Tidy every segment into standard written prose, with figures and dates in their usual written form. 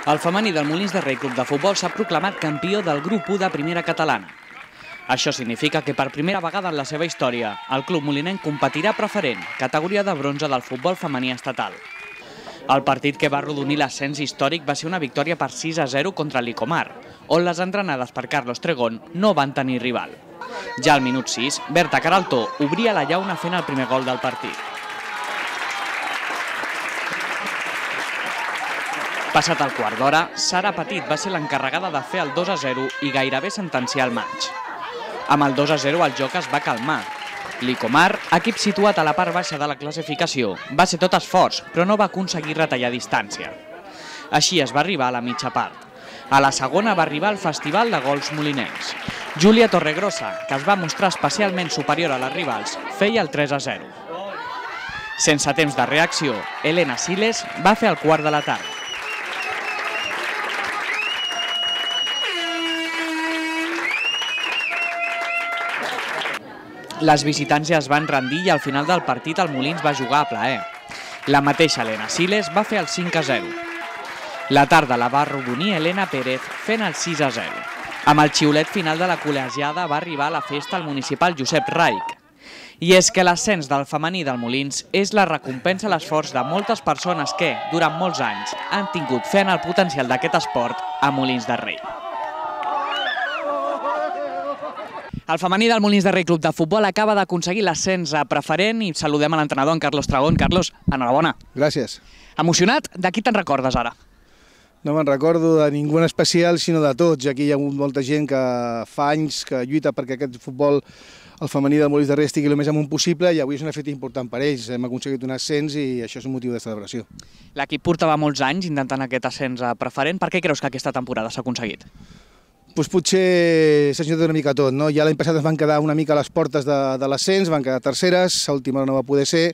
El femení del Molins de Rei Club de Futbol s'ha proclamat campió del grup 1 de primera catalana. Això significa que per primera vegada en la seva història, el club molinenc competirà preferent, categoria de bronze del futbol femení estatal. El partit que va arrodonir l'ascens històric va ser una victòria per 6-0 contra l'Icomar, on les entrenades per Carlos Tregón no van tenir rival. Ja al minut 6, Berta Caraltó obria la llauna fent el primer gol del partit. Passat el quart d'hora, Sara Petit va ser l'encarregada de fer el 2-0 i gairebé sentenciar el maig. Amb el 2-0 el joc es va calmar. L'Icomar, equip situat a la part baixa de la classificació, va ser tot esforç, però no va aconseguir retallar distància. Així es va arribar a la mitja part. A la segona va arribar el festival de gols molinencs. Júlia Torregrossa, que es va mostrar especialment superior a les rivals, feia el 3-0. Sense temps de reacció, Elena Siles va fer el quart de la tarda. Les visitants ja es van rendir i al final del partit el Molins va jugar a plaer. La mateixa Elena Siles va fer el 5-0. La tarda la va arrodonir Elena Pérez fent el 6-0. Amb el xiulet final de la col·legiada va arribar a la festa el municipal Josep Raich. I és que l'ascens del femení del Molins és la recompensa a l'esforç de moltes persones que, durant molts anys, han tingut fe en el potencial d'aquest esport a Molins de Rei. El femení del Molins de Rei Club de Futbol acaba d'aconseguir l'ascens a preferent i saludem a l'entrenador, en Carlos Tregón. Carlos, enhorabona. Gràcies. Emocionat? De qui te'n recordes ara? No me'n recordo de ningú en especial, sinó de tots. Aquí hi ha molta gent que fa anys que lluita perquè aquest futbol, el femení del Molins de Rei, estigui el més amunt possible i avui és una feta important per ells. Hem aconseguit un ascens i això és un motiu de celebració. L'equip portava molts anys intentant aquest ascens a preferent. Per què creus que aquesta temporada s'ha aconseguit? Doncs potser s'ha ajudat una mica tot, no? Ja l'any passat es van quedar una mica a les portes de l'ascens, van quedar terceres, a última hora no va poder ser,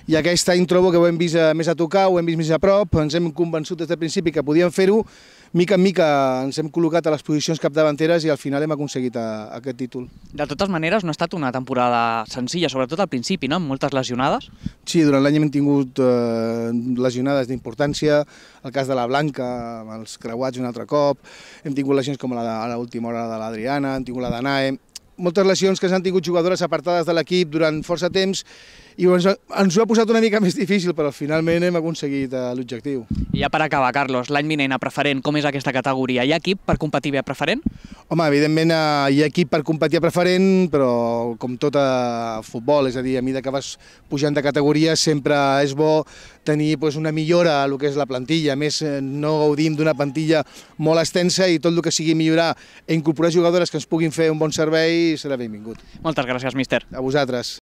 i aquest any trobo que ho hem vist més a tocar, ho hem vist més a prop, ens hem convençut des del principi que podíem fer-ho, mica en mica ens hem col·locat a les posicions capdavanteres i al final hem aconseguit aquest títol. De totes maneres, no ha estat una temporada senzilla, sobretot al principi, no? Amb moltes lesionades. Sí, durant l'any hem tingut lesionades d'importància, el cas de la Blanca, amb els creuats un altre cop, hem tingut lesions com a l'última hora de l'Adriana, hem tingut la d'Anae, moltes lesions que s'han tingut jugadores apartades de l'equip durant força temps i ens ho ha posat una mica més difícil, però finalment hem aconseguit l'objectiu. I ja per acabar, Carlos, l'any vinent a preferent, com és aquesta categoria? Hi ha equip per competir bé a preferent? Home, evidentment hi ha equip per competir a preferent, però com tot a futbol, és a dir, a mesura que vas pujant de categoria sempre és bo tenir una millora a el que és la plantilla. A més, no gaudim d'una plantilla molt extensa i tot el que sigui millorar i incorporar jugadores que ens puguin fer un bon servei serà benvingut. Moltes gràcies, míster. A vosaltres.